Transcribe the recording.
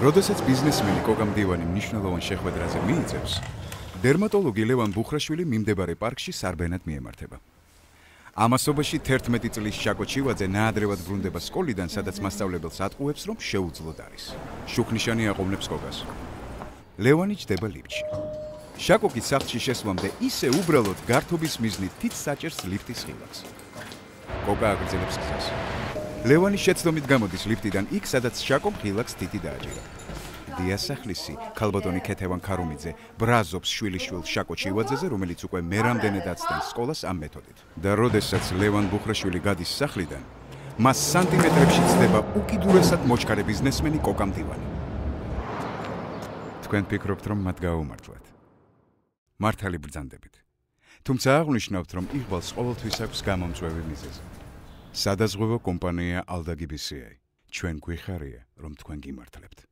როდესაც ბიზნესმენი კოკა მდივანი მნიშვნელოვან შეხვედრაზე მიიწევს, დერმატოლოგი ლევან ბუხრაშვილი მიმდებარე პარკში სარბენად მიემართება. ამასობაში 11 წლის შაკო ჩივაძე ნაადრევად ბრუნდება სკოლიდან, სადაც მასწავლებელს ატყუებს, რომ შეუძლოდ არის. შუქნიშანი აყოვნებს კოკას. ლევანი ჯდება ლიფტში. შაკო კი სახლში შესვლამდე ისე უბრალოდ გართობის მიზნით თით საჭერს ლიფტის ხილაკს. კოკა აგრძელებს გზას. ლევანი შეცდომით გამოდის ლიფტიდან იქ, სადაც შაკომ ხილაკს თითი დააჭირა. დიასახლისი, ქალბატონი ქეთევან ქარუმიძე ბრაზობს შვილიშვილ შაკო ჩივაძეზე, რომელიც უკვე მერამდენად აცდენს სკოლას ამ მეთოდით. და როდესაც ლევან ბუხრაშვილი გადის სახლიდან, მას სანტიმეტრებში ცდება უკიდურესად მოჩქარე ბიზნესმენი კოკა მდივანი. თქვენ ფიქრობთ, რომ მათ გააუმართლეთ? მართალი ბრძანდებით. თუმცა აღნიშნავთ, რომ იღბალს ყოველთვის აქვს გამომწვევი მიზეზი. სადაზღვევო კომპანია ალდაგიბისიაი. ჩვენ გვიხარია, რომ თქვენ გიმართლებთ.